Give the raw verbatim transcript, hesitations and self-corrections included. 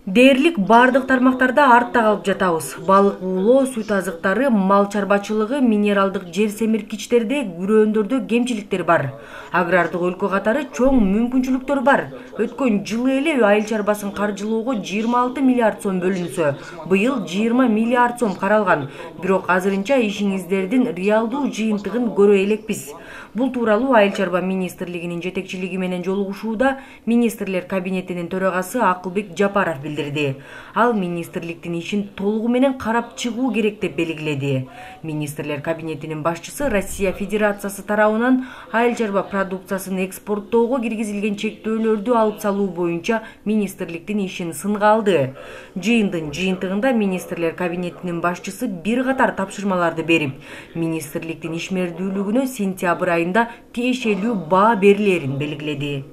Дээрлик бардык тармактарда артта калып жатабыз. Балык уулоо, сүт азыктары, мал чарбачылыгы, минералдык жер семирткичтерде, күрөөндөрдө кемчиликтер бар. Агрардык өлкө катары чоң мүмкүнчүлүктөр бар. Өткөн жылы эле айыл чарбасын каржылоого жыйырма алты миллиард сом бөлүнсө, быйыл жыйырма миллиард сом каралган. Бирок азырынча ишиңиздердин реалдуу жыйынтыгын көрө элекпиз. Бул тууралуу Айыл чарба министрлигинин жетекчилиги менен жолугушууда министрлер кабинетинин төрагасы Акылбек Жапаров билдирди. Ал министрликтин ишин толугу менен карап чыгуу керек деп белгиледи. Министрлер кабинетинин башчысы Россия Федерациясы тарабынан айыл чарба продукциясын экспорттоого киргизилген чектөөлөрдү алып салуу боюнча министрликтин ишин сынга алды. Жыйындын жыйынтыгында министрлер кабинетинин башчысы бир катар тапшырмаларды берип, министрликтин ишмердүүлүгүнө сентябрь айында тиешелүү баа берилерин белгиледи.